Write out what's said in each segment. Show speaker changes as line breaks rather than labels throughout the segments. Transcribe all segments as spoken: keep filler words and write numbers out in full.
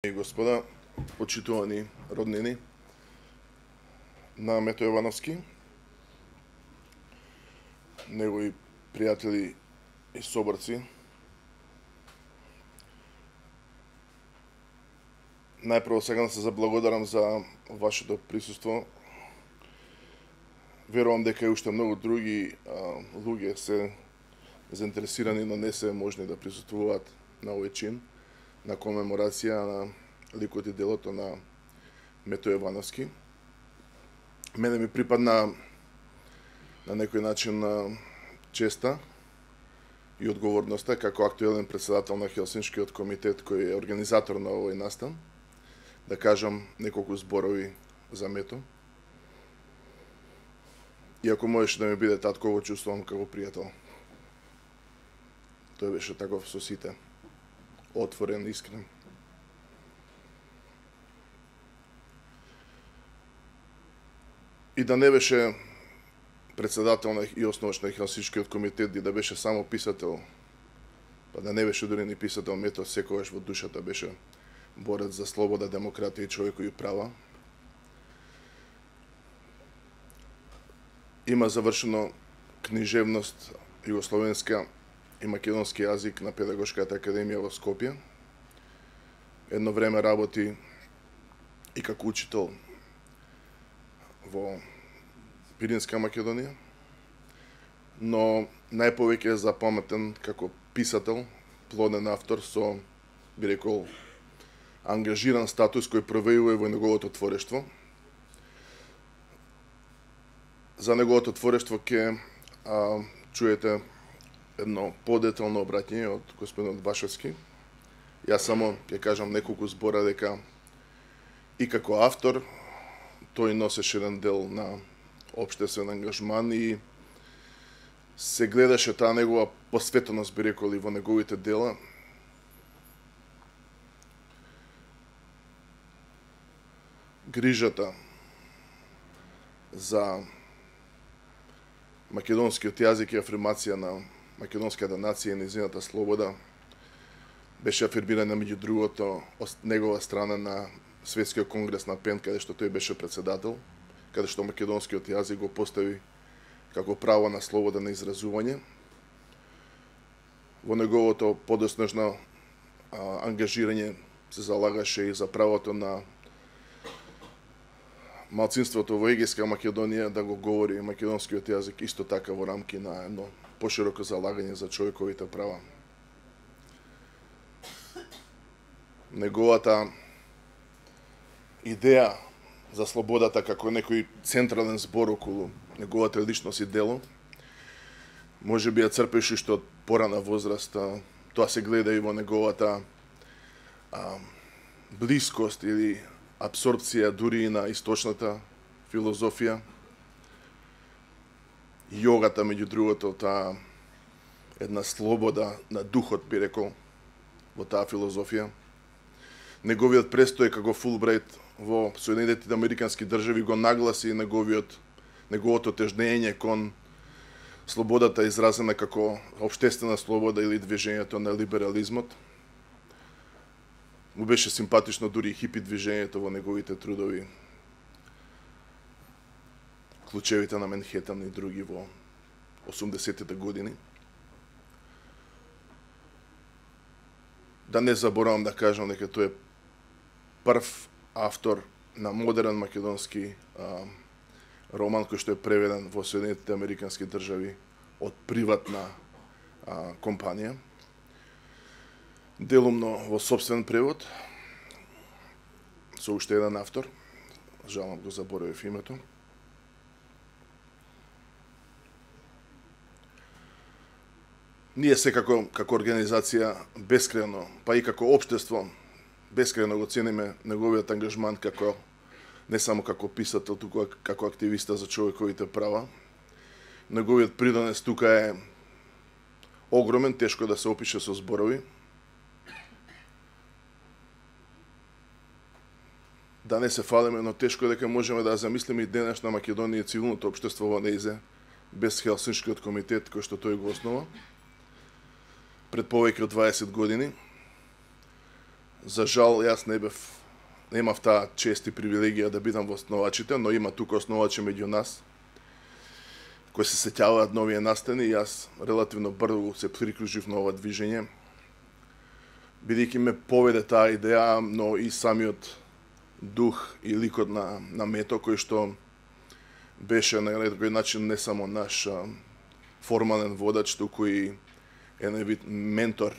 И господа, почитувани роднини на Мето Јовановски, негови пријатели и соборци, најпрво сега да се заблагодарам за вашето присуство. Верувам дека и уште многу други а, луѓе се заинтересирани, но не се можни да присуствуваат на овој чин, на комеморација на ликот и делото на Мето Јовановски. Мене ми припадна на некој начин на честа и одговорноста како актуелен председател на Хелсиншкиот комитет кој е организатор на овој настан да кажам неколку зборови за Мето. Иако можеше да ми биде татко, го чувствувам како пријател. Тој беше таков со сите, отворен, искрен. И да не беше председател на и основач на Хелсиншкиот комитет, и да беше само писател, па да не беше дури ни писател, Мето секогаш во душата беше борец за слобода, демократија и човекови права. Има завршено книжевност југословенска и македонски јазик на Педагошката академија во Скопје. Едно време работи и како учител во Пиринска Македонија, но најповеќе е запаметен како писател, плоден автор со, би рекол, ангажиран статус кој провејува во неговото творештво. За неговото творештво ќе а, чуете едно подетално обраќање од господинот Башевски. Јас само ќе кажам неколку збора дека и како автор тој носеше еден дел на општествен ангажман и се гледаше таа негова посветеност, би рекол, и во неговите дела. Грижата за македонскиот јазик и афирмација на македонската нација и незината слобода беше афирмирана меѓу другото од негова страна на Светскиот конгрес на ПЕН, каде што тој беше председател, каде што македонскиот јазик го постави како право на слобода на изразување. Во неговото подоснежно ангажирање се залагаше и за правото на малцинството во Егејска Македонија да го говори македонскиот јазик, исто така во рамки на едно пошироко залагање за човековите права. Неговата идеја за слободата како некој централен збор околу неговата личност и дело, може би ја црпеше што од порана возраст, тоа се гледа и во неговата а, блискост или абсорбција дури и на источната филозофија. Јогата, меѓу другото, таа една слобода на духот, би рекол, во таа филозофија. Неговиот престој како Фулбрајт во Соединетите Американски држави го нагласи неговиот, неговото тежнење кон слободата изразена како општествена слобода или движењето на либерализмот. Му беше симпатично дури и хипи движењето во неговите трудови, Клучевите на Менхетан и други во осумдесетите години. Да не заборавам да кажам дека тој е прв автор на модерен македонски а, роман кој што е преведен во Соединетите Американски држави од приватна а, компанија, делумно во собствен превод, со уште еден автор, жалам го заборавив името. Ние секако како организација бескрајно, па и како општество, бескрајно го цениме неговиот ангажман како не само како писател, туку како активиста за човековите права. Неговиот придонес тука е огромен, тешко да се опише со зборови. Да не се фалиме, но тешко дека можеме да замислиме и денешна Македонија и цивилното општество во нејзе без Хелсиншкиот комитет кој што тој го основа пред повеќе од дваесет години. За жал, јас не бев, немав таа чест и привилегија да бидам во основачите, но има тука основачи меѓу нас, кои се сеќаваат на овие настани, и јас релативно брзо се приклучив на ова движење, бидејќи ме поведе таа идеја, но и самиот дух и ликот на, на Мето, кој што беше на некој начин не само наш а, формален водач, туку и еден вид ментор.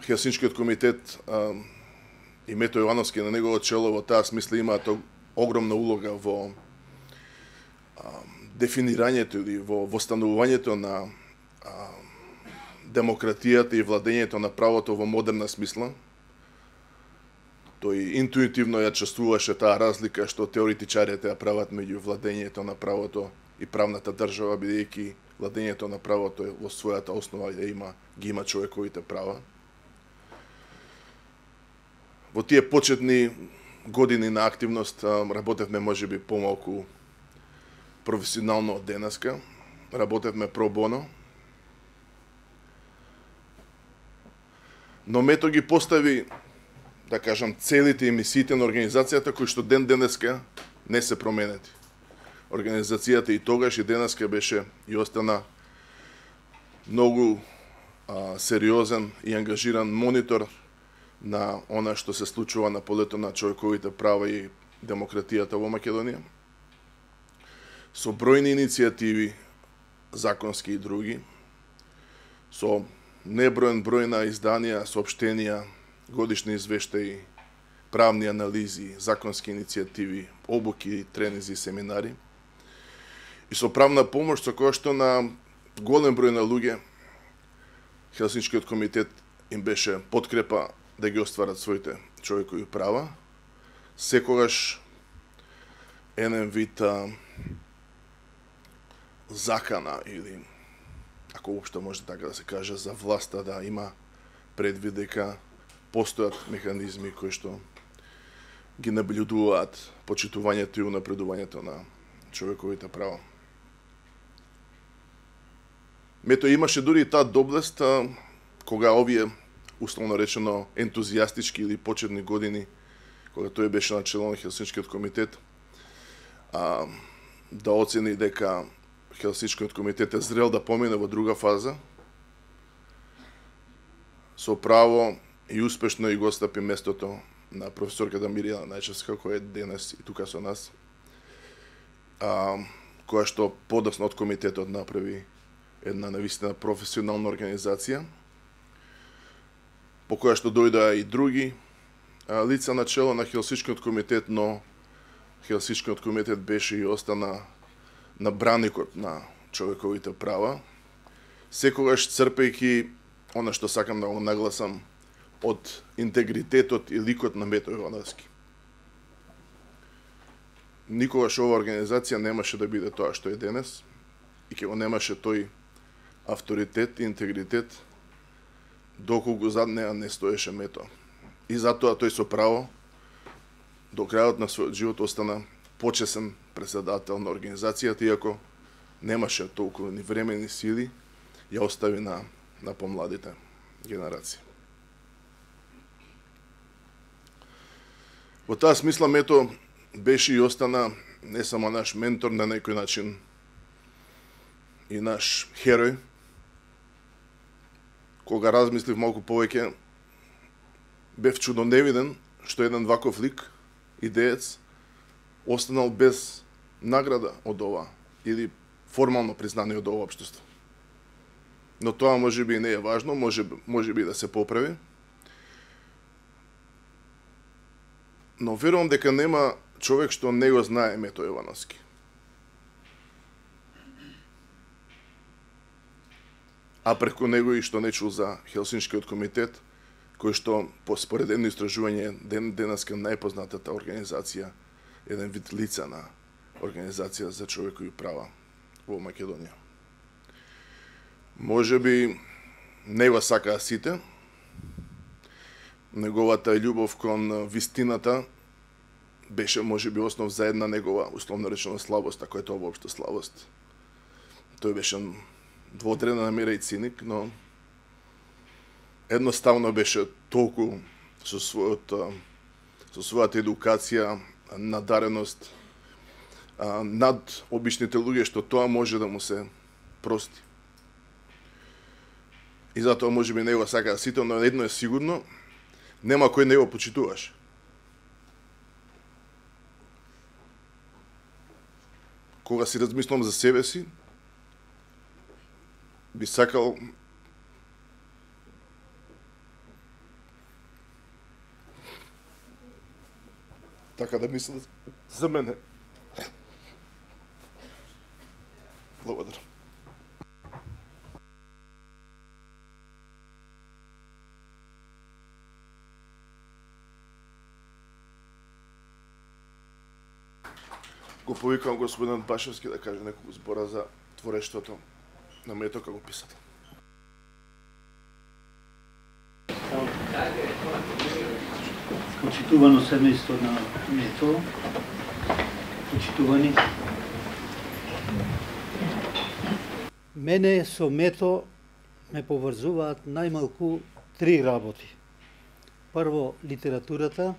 Хелсиншкиот комитет а, и Мето Јовановски на негово чело во таа смисла имаат огромна улога во а, дефинирањето или во восстановувањето на а, демократијата и владењето на правото во модерна смисла. Тој интуитивно ја чувствуваше таа разлика што теоретичарите ја прават меѓу владењето на правото и правната држава, бидејќи владењето на правото во својата основа ја има, ги има човековите права. Во тие почетни години на активност работевме можеби помалку професионално од денеска. Работевме про боно. Но Мето ги постави, да кажам, целите и мисиите на организацијата кои што ден денеска не се променети. Организацијата и тогаш и денеска беше и остана многу а, сериозен и ангажиран монитор на она што се случува на полето на човековите права и демократијата во Македонија. Со бројни иницијативи, законски и други, со неброен број на изданија, соопштенија, годишни извештаи, правни анализи, законски иницијативи, обуки, тренинзи, семинари. И со правна помош, со која што на голем број на луѓе Хелсиншкиот комитет им беше подкрепа да ги остварат своите човекови права. Секогаш еден вид а, закана или, ако уопшто може така да се каже, за власта да има предвид дека постојат механизми кои што ги наблюдуваат почитувањето и унапредувањето на човековите права. Мето имаше дури и таа доблест, кога овие, условно речено, ентузијастички или почетни години, кога тој беше на чело на Хелсиншкиот комитет, а, да оцени дека Хелсиншкиот комитет е зрел да помине во друга фаза, со право и успешно и го стапи местото на професорката Мирјана Најчевска, која е денес и тука со нас, а, која што подасно од комитетот направи една навистина професионална организација, по која што дојдоа и други а, лица на чело на Хелсиншкиот комитет, но Хелсиншкиот комитет беше и остана на браникот на човековите права, секогаш црпејќи она што сакам да го нагласам од интегритетот и ликот на Мето Јовановски. Никогаш ова организација немаше да биде тоа што е денес и ќе го немаше тој авторитет и интегритет доколку зад неа не стоеше Мето. И затоа тој со право до крајот на својот живот остана почесен председател на организацијата, иако немаше толку ни време ни сили, ја остави на, на помладите генерации. Во таа смисла Мето беше и остана не само наш ментор, на некој начин и наш херој. Кога размислив малку повеќе, бев чудоневиден што еден ваков лик, идеец, останал без награда од ова или формално признание од ова општество. Но тоа можеби не е важно, може, можеби да се поправи. Но верувам дека нема човек што не го знае Мето Јовановски. А преку него и што не чул за Хелсиншкиот комитет, кој што по според едно истражување ден денеска најпознатата организација, еден вид лица на организација за човекови права во Македонија. Можеби не го сакаа сите. Неговата љубов кон вистината беше можеби основ за една негова условно речено слабост, ако е тоа воопшто слабост. Тој беше дводрена намера и циник, но едноставно беше толку со својот со својата едукација, надареност над обичните луѓе, што тоа може да му се прости. И затоа можеби него сака сите, но едно е сигурно, нема кој не го почитуваш. Кога си размислам за себе си, би сакал така да мислам за мене. Благодарам. Го повикам господин Башевски да каже неколку збора за творештвото на Мето како писател.
Почитувано семејство на Мето, почитувани. Мене со Мето ме поврзуваат најмалку три работи. Прво, литературата,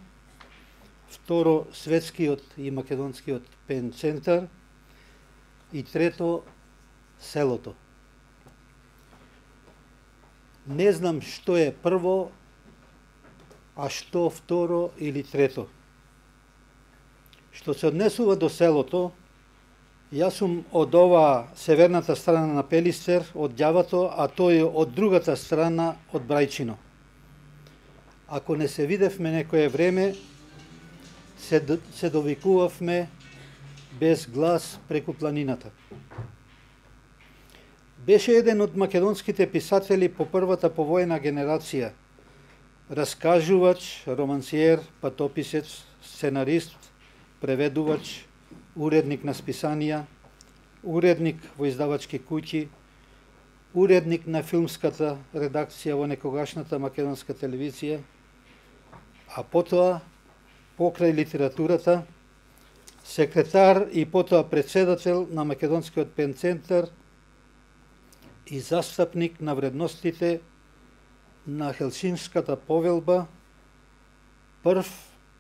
второ, светскиот и македонскиот пен центар и трето, селото. Не знам што е прво, а што второ или трето. Што се однесува до селото, јас сум од ова северната страна на Пелистер, од Ѓавато, а тој од другата страна од Брајчино. Ако не се видевме некое време, се, се довикувавме без глас преку планината. Беше еден од македонските писатели по првата повојна генерација, раскажувач, романсиер, патописец, сценарист, преведувач, уредник на списанија, уредник во издавачки куќи, уредник на филмската редакција во некогашната македонска телевизија, а потоа, покрај литературата, секретар и потоа председател на Македонскиот пен центар и застапник на вредностите на Хелсинската повелба, прв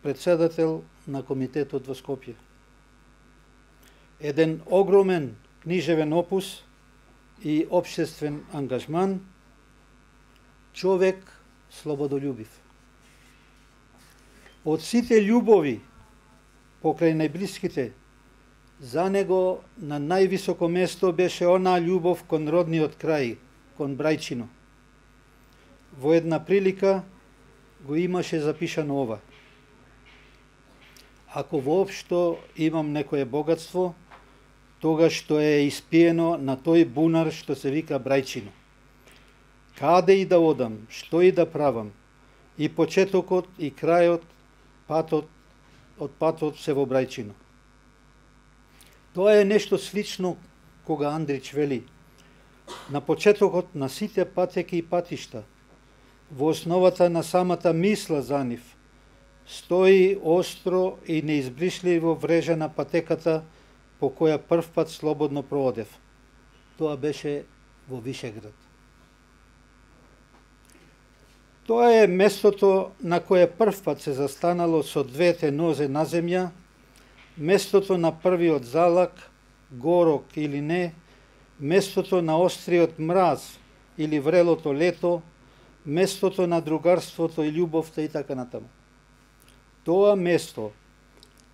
председател на комитетот во Скопје. Еден огромен книжевен опус и општествен ангажман, човек слободолюбив. Од сите љубови покрај најблиските, за него на највисоко место беше онаа љубов кон родниот крај, кон Брајчино. Во една прилика го имаше запишано ова: ако воопшто имам некое богатство, тогаш што е испиено на тој бунар што се вика Брајчино. Каде и да одам, што и да правам, и почетокот и крајот, патот, од патот се во Брајчино. Тоа е нешто слично кога Андрич вели: на почетокот на сите патеки и патишта, во основата на самата мисла за нив, стои остро и неизбришливо врежена патеката по која првпат слободно проодев. Тоа беше во Вишеград. Тоа е местото на кое првпат се застанало со двете нозе на земја, местото на првиот залак, горок или не, местото на остриот мраз или врелото лето, местото на другарството и љубовта и така натаму. Тоа место,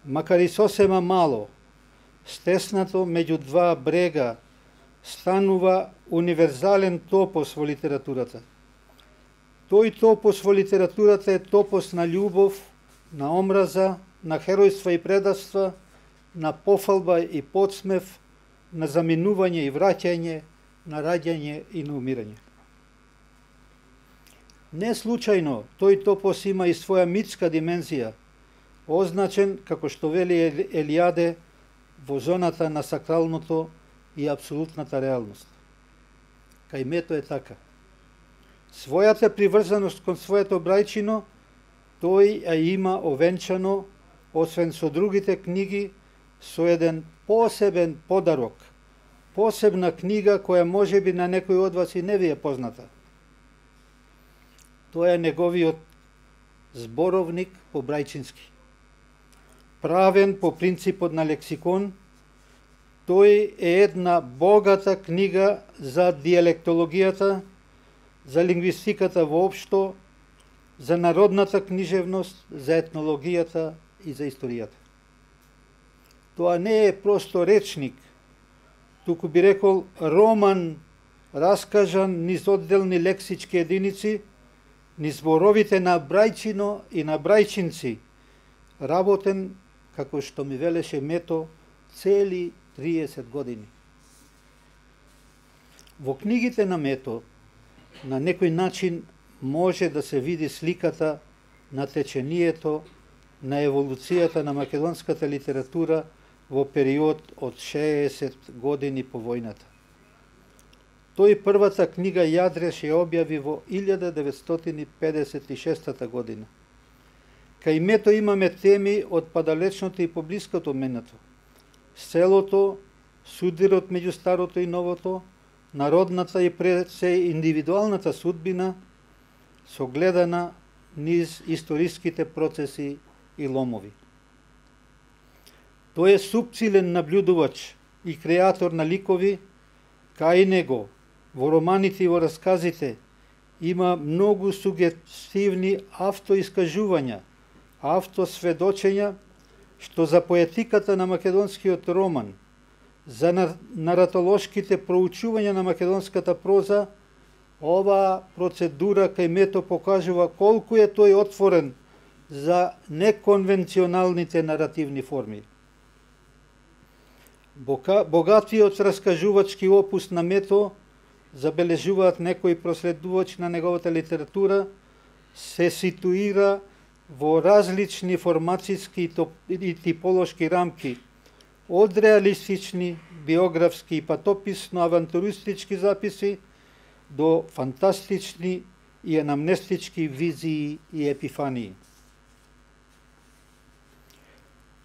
макар и сосема мало, стеснато меѓу два брега, станува универзален топос во литературата. Тој топос во литературата е топос на љубов, на омраза, на херојства и предавства, на пофалба и подсмев, на заминување и враќање, на раѓање и на умирање. Не случајно тој топос има и своја митска димензија, означен, како што вели Елиаде, во зоната на сакралното и апсолутната реалност. Кај Мето е така. Својата приврзаност кон своето Брајчино, тој ја има овенчано, освен со другите книги, со еден посебен подарок, посебна книга која можеби на некој од вас и не ви е позната. Тоа е неговиот зборовник по брајчински. Правен по принципот на лексикон, тој е една богата книга за диалектологијата, за лингвистиката воопшто, за народната книжевност, за етнологијата и за историјата. Тоа не е просто речник, туку би рекол роман раскажан низ одделни лексички единици, низ зборовите на брајчино и на брајчинци, работен, како што ми велеше Мето, цели триесет години. Во книгите на Мето, на некој начин може да се види сликата на течението, на еволуцијата на македонската литература во период од шеесет години по војната. Тој првата книга Јадреш ја објави во илјада деветстотини педесет и шеста година. Кај Мето имаме теми од падалечното и поблиското минато. Селото, судирот меѓу старото и новото, народната и пред се индивидуалната судбина, согледана низ историските процеси и ломови. Тој е супцилен наблюдувач и креатор на ликови, кај него, во романите и во расказите, има многу сугестивни автоискажувања, автосведочења, што за поетиката на македонскиот роман, за наратолошките проучувања на македонската проза, оваа процедура кај Мето покажува колку е тој отворен за неконвенционалните наративни форми. Богатиот раскажувачки опус на Мето, забележуваат некои проследувачи на неговата литература, се ситуира во различни формацијски и типолошки рамки, од реалистични, биографски и патописно-авантуристички записи до фантастични и анамнестички визии и епифании.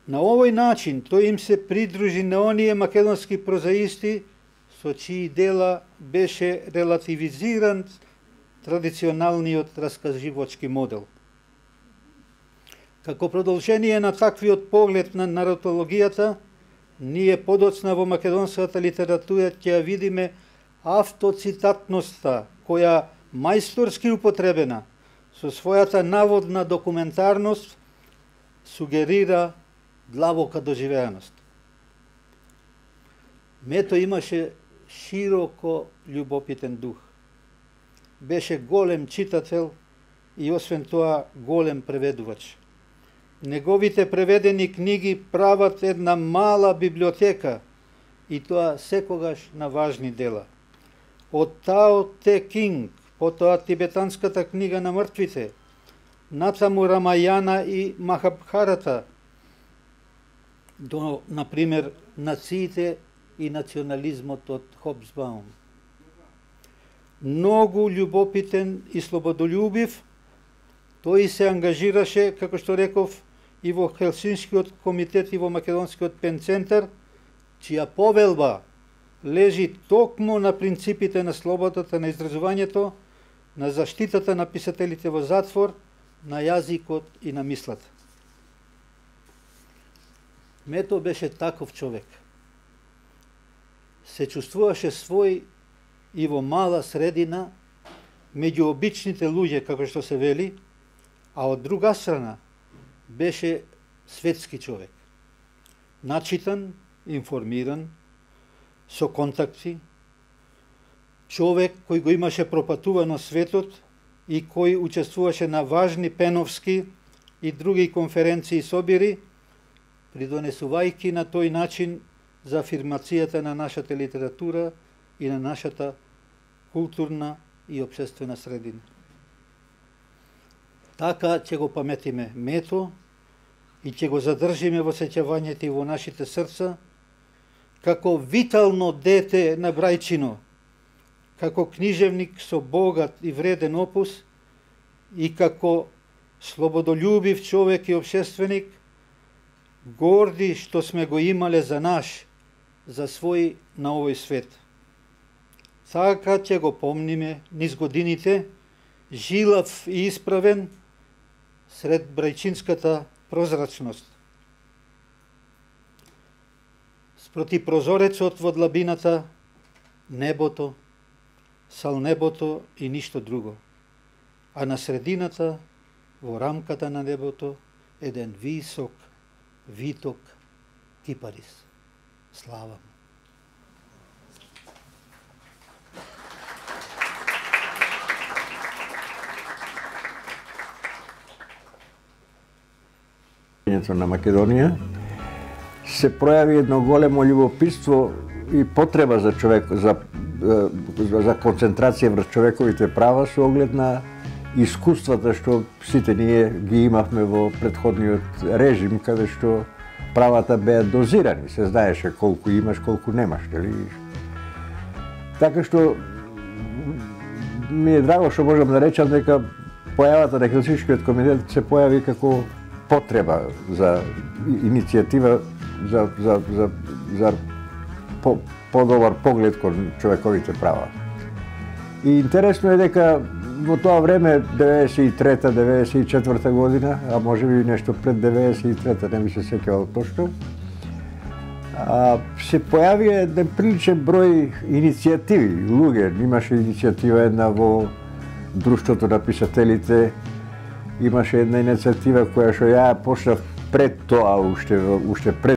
На овој начин тој им се придружи на оние македонски прозаисти со чии дела беше релативизиран традиционалниот раскаживачки модел. Како продолжение на таквиот поглед на наратологијата, ние подоцна во македонската литература ќе ја видиме автоцитатноста, која мајсторски употребена со својата наводна документарност сугерира длабока доживеаност. Мето имаше широко љубопитен дух. Беше голем читател и освен тоа голем преведувач. Неговите преведени книги прават една мала библиотека и тоа секогаш на важни дела. Од Тао Те Кинг, потоа тибетанската книга на мртвите, натаму Рамајана и Махабхарата, до, например, нациите и национализмот од Хобсбаум. Многу љубопитен и слободолюбив, тој се ангажираше, како што реков, и во Хелсинскиот комитет и во Македонскиот пенцентар, чија повелба лежи токму на принципите на слободата на изразувањето, на заштитата на писателите во затвор, на јазикот и на мислата. Мето беше таков човек. Се чувствуваше свој и во мала средина, меѓу обичните луѓе, како што се вели, а од друга страна беше светски човек. Начитан, информиран, со контакти, човек кој го имаше пропатувано светот и кој учествуваше на важни пеновски и други конференции и собири, придонесувајќи на тој начин за афирмацијата на нашата литература и на нашата културна и општествена средина. Така ќе го паметиме Мето и ќе го задржиме во сеќавањето и во нашите срца, како витално дете на Брајчино, како книжевник со богат и вреден опус и како слободолюбив човек и општественик, горди што сме го имале за наш, за свој на овој свет. Така ќе го помниме низ годините, жилав и исправен сред брајчинската прозрачност. Спроти прозорецот во длабината, небото, сал небото и ништо друго. А на средината, во рамката на небото, еден висок, виток кипарис. Слава му.
На Македонија се пројави едно големо љубопитство и потреба за човек за за концентрација врз човековите права со оглед на искуствата што сите ние ги имавме во претходниот режим, каде што правата беа дозирани, се знаеше колку имаш, колку немаш, нели? Така што ми е драго што можам да речам дека појавата на Хелсиншкиот комитет се појави како потреба за иницијатива за за за за по, подобар поглед кон човековите права. И интересно е дека во тоа време деветдесет и трета деветдесет и четврта година, а може би нешто пред деветдесет и трета, не ми се сеќавам точно, а, се појави еден приличен број иницијативи, луѓе. Имаше иницијатива една во Друштвото на писателите, имаше една иницијатива која што ја почнав пред тоа, уште уште пред